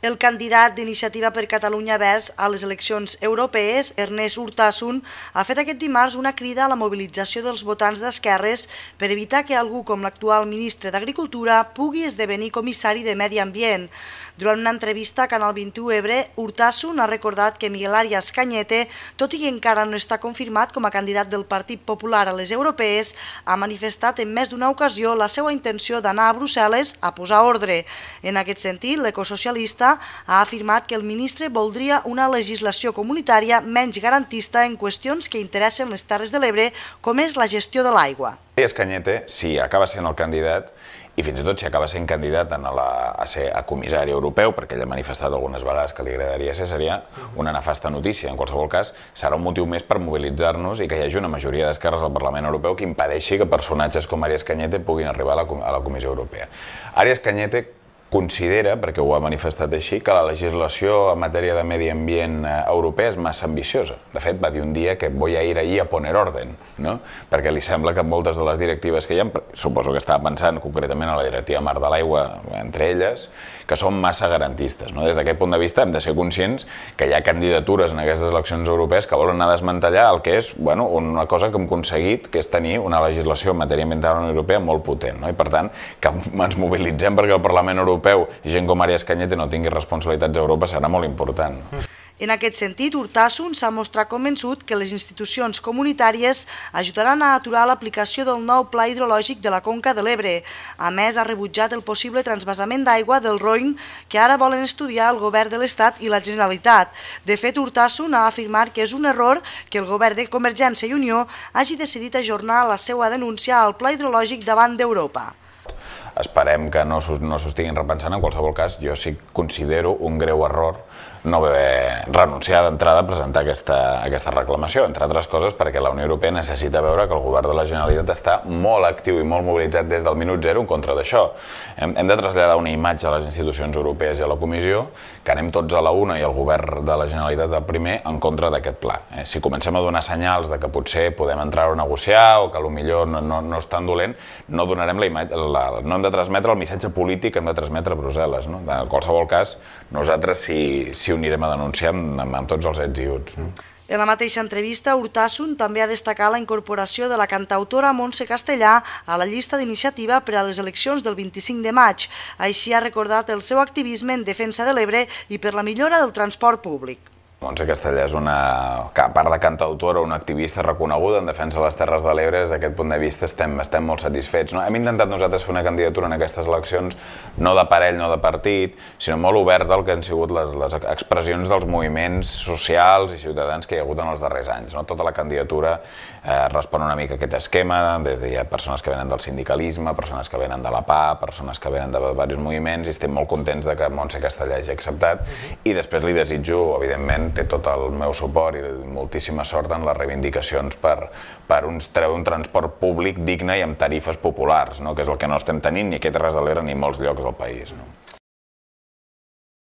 El candidat d'Iniciativa per Catalunya Verds a les eleccions europees, Ernest Urtasun, ha fet aquest dimarts una crida a la mobilització dels votants d'esquerres per evitar que algú com l'actual ministre d'Agricultura pugui esdevenir comissari de Medi Ambient. Durant una entrevista a Canal 21 Ebre, Urtasun ha recordat que Miguel Arias Cañete, tot i que encara no està confirmat com a candidat del Partit Popular a les europees, ha manifestat en més d'una ocasió la seva intenció d'anar a Brussel·les a posar ordre. En aquest sentit, l'ecosocialista ha afirmat que el ministre voldria una legislació comunitària menys garantista en qüestions que interessen les Terres de l'Ebre, com és la gestió de l'aigua. Arias Cañete, si acaba sent el candidat, i fins i tot si acaba sent candidat a ser comissari europeu, perquè ell ha manifestat algunes vegades que li agradaria ser, seria una nefasta notícia. En qualsevol cas, serà un motiu més per mobilitzar-nos i que hi hagi una majoria d'esquerres al Parlament Europeu que impedeixi que personatges com Arias Cañete puguin arribar a la Comissió Europea. Arias Cañete considera, perquè ho ha manifestat així, que la legislació en matèria de medi ambient europea és massa ambiciosa. De fet, va dir un dia que voy a ir allí a poner orden, no? Perquè li sembla que moltes de les directives que hi ha, suposo que estava pensant concretament a la directiva Mar de l'Aigua, entre elles, que són massa garantistes. Des d'aquest punt de vista hem de ser conscients que hi ha candidatures en aquestes eleccions europees que volen anar a desmantellar el que és una cosa que hem aconseguit, que és tenir una legislació en matèria ambiental a la Unió Europea molt potent. I per tant, que ens mobilitzem perquè el Parlament Europeu i gent com Arias Cañete no tingui responsabilitats a Europa serà molt important. En aquest sentit, Urtasun s'ha mostrat convençut que les institucions comunitàries ajudaran a aturar l'aplicació del nou pla hidrològic de la Conca de l'Ebre. A més, ha rebutjat el possible transvasament d'aigua del Roine que ara volen estudiar el govern de l'Estat i la Generalitat. De fet, Urtasun ha afirmat que és un error que el govern de Convergència i Unió hagi decidit ajornar la seva denúncia al pla hidrològic davant d'Europa. Esperem que no s'ho estiguin repensant. En qualsevol cas, jo sí considero un greu error no haver renunciat d'entrada a presentar aquesta reclamació, entre altres coses perquè la Unió Europea necessita veure que el govern de la Generalitat està molt actiu i molt mobilitzat des del minut zero en contra d'això. Hem de traslladar una imatge a les institucions europees i a la Comissió que anem tots a la una i el govern de la Generalitat el primer en contra d'aquest pla. Si comencem a donar senyals de que potser podem entrar a negociar o que potser no és tan dolent, no donarem la imatge, no hem de transmetre el missatge polític que hem de transmetre a Brussel·les. En qualsevol cas, nosaltres si ho anirem a denunciar amb tots els ets i uts. En la mateixa entrevista, Urtasun també ha destacat la incorporació de la cantautora Montse Castellà a la llista d'iniciativa per a les eleccions del 25 de maig. Així ha recordat el seu activisme en defensa de l'Ebre i per la millora del transport públic. Montse Castellà és a part de cantautora, una activista reconeguda en defensa de les Terres de l'Ebre. Des d'aquest punt de vista estem molt satisfets. Hem intentat nosaltres fer una candidatura en aquestes eleccions no de parell, no de partit, sinó molt oberta al que han sigut les expressions dels moviments socials i ciutadans que hi ha hagut en els darrers anys. Tota la candidatura respon una mica a aquest esquema, des de persones que venen del sindicalisme, persones que venen de la PA, persones que venen de diversos moviments, i estem molt contents que Montse Castellà hagi acceptat, i després li desitjo, evidentment, té tot el meu suport i moltíssima sort en les reivindicacions per un transport públic digne i amb tarifes populars, que és el que no estem tenint ni aquí a Terres de l'Ebre ni a molts llocs del país.